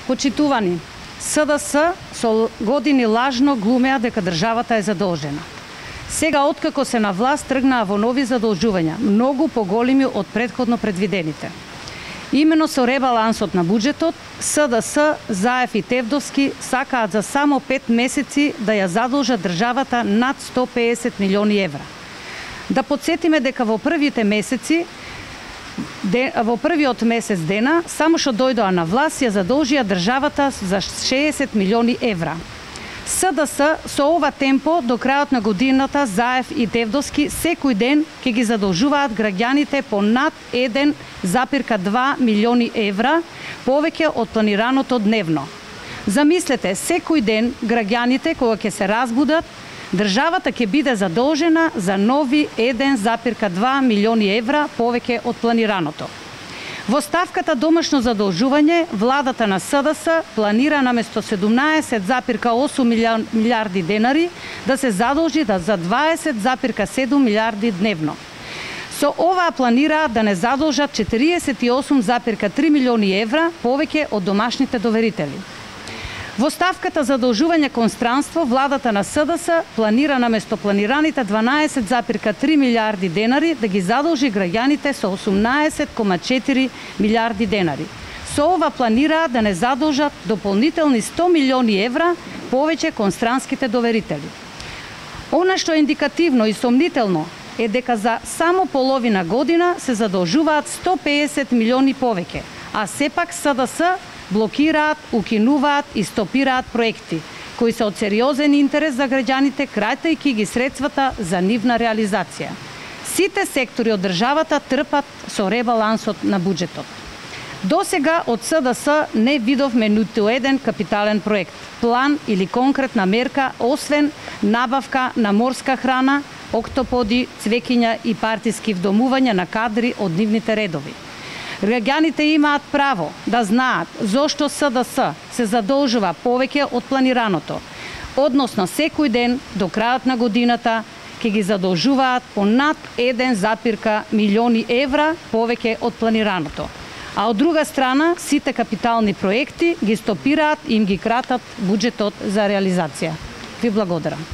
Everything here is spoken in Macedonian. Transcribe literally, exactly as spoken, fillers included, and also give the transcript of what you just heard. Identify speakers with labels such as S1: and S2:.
S1: Почитувани, СДС со години лажно глумеа дека државата е задолжена. Сега, откако се на власт, тргнаа во нови задолжувања, многу поголеми од претходно предвидените. Имено со ребалансот на буџетот, СДС, Заев и Тевдовски сакаат за само пет месеци да ја задолжат државата над сто песет милиони евра. Да подсетиме дека во првите месеци Во првиот месец дена, само што дојдоа на власт, ја задолжија државата за шеесет милиони евра. СДС со ова темпо до крајот на годината, Заев и Тевдовски секој ден ќе ги задолжуваат граѓаните по над еден запирка два милиони евра повеќе од планираното дневно. Замислете, секој ден граѓаните кога ќе се разбудат, државата ќе биде задолжена за нови еден запирка два милиони евра повеќе од планираното. Во ставката домашно задолжување, владата на СДС планира наместо седумнаесет запирка осум милиарди денари да се задолжи за дваесет запирка седум милиарди дневно. Со ова планира да не задолжат четириесет и осум запирка три милиони евра повеќе од домашните доверители. Во ставката задолжување кон странство, владата на СДС планира наместо планираните дванаесет запирка три милиарди денари да ги задолжи граѓаните со осумнаесет кома четири милиарди денари. Со ова планира да не задолжат дополнителни сто милиони евра повеќе кон странските доверители. Она што е индикативно и сомнително е дека за само половина година се задолжуваат сто песет милиони повеќе, а сепак СДС блокираат, укинуваат и стопираат проекти кои се од сериозен интерес за граѓаните, крајтајќи ги средствата за нивна реализација. Сите сектори од државата трпат со ребалансот на буџетот. До сега од СДС не видовме ниту еден капитален проект, план или конкретна мерка, освен набавка на морска храна, октоподи, цвеќиња и партиски вдомувања на кадри од нивните редови. Граѓаните имаат право да знаат зошто СДС се задолжува повеќе од планираното, односно секој ден до крајот на годината ќе ги задолжуваат по над еден запирка милиони евра повеќе од планираното. А од друга страна, сите капитални проекти ги стопираат и им ги кратат буџетот за реализација. Ви благодарам.